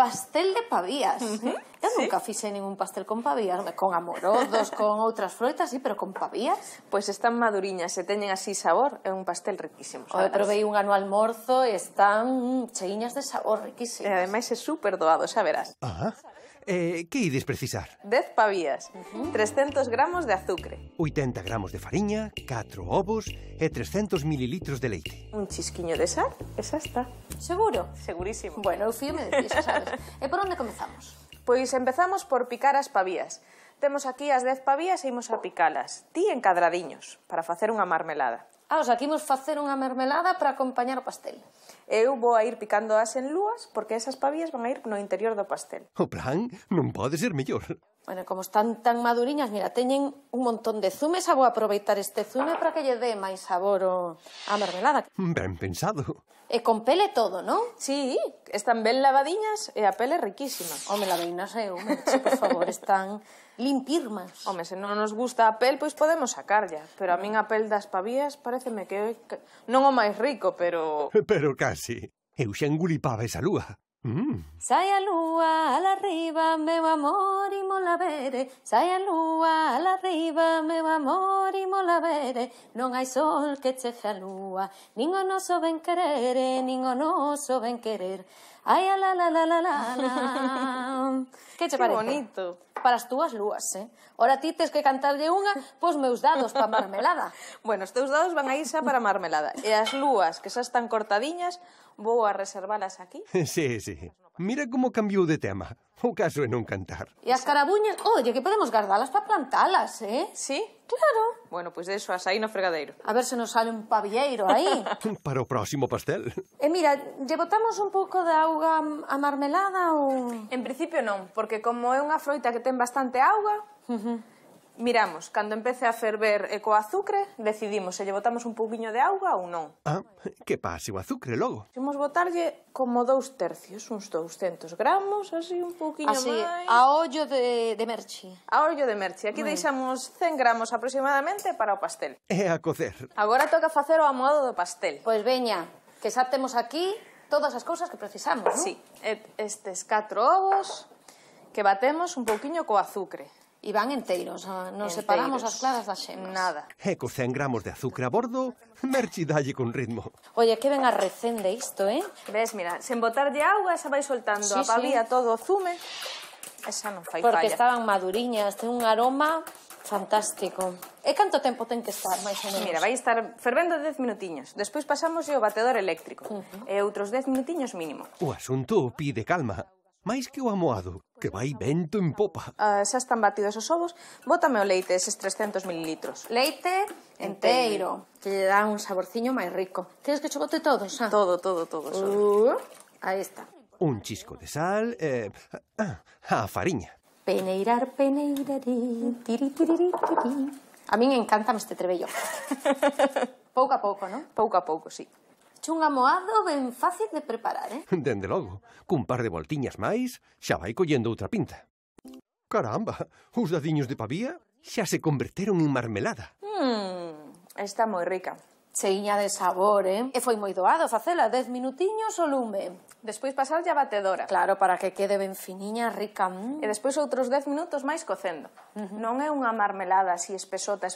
pastel de pavías. Eu nunca fixei ningún pastel con pavías, con amorodos, con outras froitas, sí, pero con pavías. Pois están maduriñas e teñen así sabor, é un pastel riquísimo. Eu provei un ano almorzo e están cheiñas de sabor, riquísimos. E ademais é super doado, xa verás. Que ides precisar? 10 pavías, 300 gramos de azucre, 80 gramos de fariña, 4 ovos e 300 mililitros de leite. un chisquiño de sal e xa está. Seguro? Segurísimo. Bueno, eu fíome de ti, xa sabes. E por onde comezamos? Pois empezamos por picar as pavías. Temos aquí as 10 pavías e imos a picalas. Ti en cadradiños, para facer unha marmelada. O sea, aquí imos facer unha mermelada para acompañar o pastel. Eu vou a ir picándoas en lúas, porque esas pavías van a ir no interior do pastel. O plan non pode ser mellor. Bueno, como están tan maduriñas, mira, teñen un montón de zume, xa vou aproveitar este zume para que lle dé máis sabor á mermelada. Ben pensado. E con pele todo, non? Sí, están ben lavadiñas e a pele riquísima. Home, la veinas eu, Merche, por favor, están limpirmas. Home, se non nos gusta a pel, pois podemos sacarlla. Pero a min a pel das pavías pareceme que non o máis rico, pero... Pero casi. Eu xa engulipaba esa lúa. Sai a lúa ala arriba, meu amor, imola vere. Sai a lúa ala arriba, meu amor, imola vere. Non hai sol que chefe a lúa, nin o noso ben querer, nin o noso ben querer. Ai, a la la la la la la. Que che parece? Que bonito. Para as túas lúas, Ora ti tes que cantarlle unha pos meus dados pa marmelada. Bueno, os teus dados van a ir xa para a marmelada. E as lúas, que xa están cortadiñas, vou a reservalas aquí. Sí. Mira como cambiou de tema. O caso é non cantar. E as carabuñas, oye, que podemos guardalas para plantalas, Sí? Claro. Bueno, pois deixo as aí no fregadeiro. A ver se nos sale un pavieiro aí. Para o próximo pastel. E mira, lle botamos un pouco de auga a marmelada ou... En principio non, porque como é unha froita que ten bastante auga, miramos, cando empece a ferver e co azúcar, decidimos se lle botamos un pouquiño de auga ou non. Que pase o azúcar logo. Imos botarlle como 2 tercios, uns 200 gramos, así un pouquiño así, máis. a ollo de Merchi. A ollo de Merchi. Aquí deixamos 100 gramos aproximadamente para o pastel. E a cocer. Agora toca facer o amoado do pastel. Pois veña, que xa temos aquí todas as cousas que precisamos, non? Sí, estes 4 ovos que batemos un pouquiño co azúcar. E van enteiros, non separamos as claras das xemas. Nada. E co 100 gramos de azúcar a bordo, Merchi dalle con ritmo. Oye, que ben arrecende isto, Ves, mira, sen botarlle auga xa vai soltando a pavía todo o zume. Esa non fai porque falla. estaban maduriñas, ten un aroma fantástico. E canto tempo ten que estar, máis ou menos? Mira, vai estar fervendo 10 minutiños. Despois pasamos o batedor eléctrico. E outros 10 minutiños mínimo. O asunto pide calma. máis que o amoado, que vai vento en popa. Xa están batidos os ovos. Bótame o leite, eses 300 mililitros. Leite enteiro, que lle dá un saborciño máis rico. Queres que cho bote todo, xa? Todo. Aí está. Un chisco de sal e... a fariña. Peneirar, peneirarí, tiri, tiri, tiri. A min encanta este trebello. Pouco a pouco, non? Pouco a pouco, sí. Un amoado ben fácil de preparar, Dende logo, cun par de voltiñas máis, xa vai collendo outra pinta. Caramba, os dadiños de pavía xa se converteron en marmelada. Está moi rica. Cheiña de sabor, E foi moi doado facela, 10 minutiños o lume. Despois pasarlle a batedora. Claro, para que quede ben finiña, rica. E despois outros 10 minutos máis cocendo. Non é unha marmelada así espesota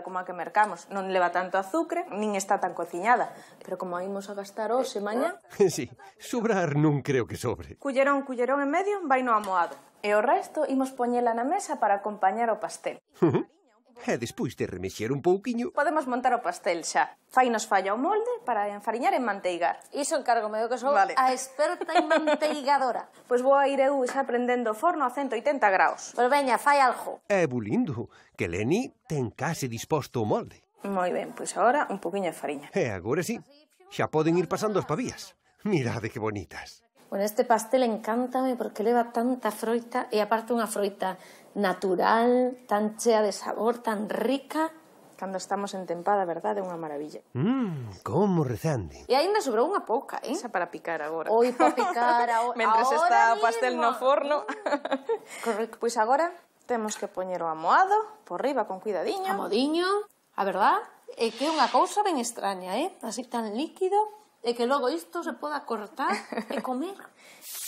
como a que mercamos. Non leva tanto azúcar, nin está tan cociñada. Pero como a imos a gastar hoxe mañá... Sí, sobrar non creo que sobre. Cullerón en medio, vai no amoado. E o resto imos poñela na mesa para acompañar o pastel. E despois de remexer un pouquiño... Podemos montar o pastel xa. Fainos falla o molde para enfariñar e manteigar. Iso encárgome eu que sou a experta en manteigadora. Pois vou a ir eu xa prendendo o forno a 180 graus. Pois veña, fai algo. É bulindo, que Leni ten case disposto o molde. Moi ben, pois agora un poquinho de fariña. E agora sí, xa poden ir pasando as pavías. Mirade que bonitas. Bueno, este pastel encántame porque leva tanta froita e aparte unha froita natural, tan chea de sabor, tan rica. Cando estamos en tempada, verdade, é unha maravilla. Como rezande. E aínda sobrou unha pouca, Esa para picar agora. Oi, para picar agora. Mentres está o pastel mismo. no forno. Correcto. Pois agora temos que poñer o amoado por riba con cuidadiño. Amodiño, a verdad, é que é unha cousa ben extraña, Así tan líquido. E que logo isto se poda cortar e comer.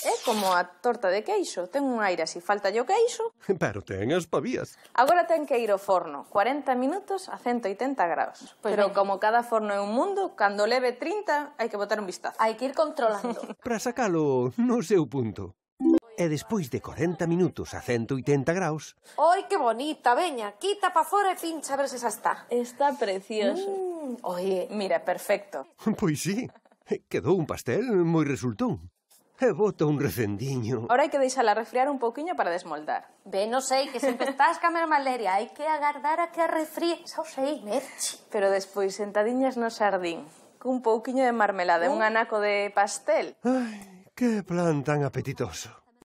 É como a torta de queixo, ten un aire así, falta o queixo. Pero ten as pavías. Agora ten que ir ao forno, 40 minutos a 180 graus. Pero como cada forno é un mundo, cando leve 30 hai que botar un vistazo. Hai que ir controlando. Para sacalo no seu punto. E despois de 40 minutos a 180 graus... Oi, que bonita, veña, quita pa fora e pincha a ver se xa está. Está precioso. Oye, Mira, perfecto. Pois sí, quedou un pastel moi resultón. E bota un recendiño. Ahora hai que deixala refriar un pouquiño para desmoldar. ben, non sei, que sempre estás ca mesma leria. Hai que agardar a que a refríe. Xa o sei, Merchi. Pero despois sentadiñas no xardín, cun pouquiño de marmelada e un anaco de pastel. Ai, que plan tan apetitoso.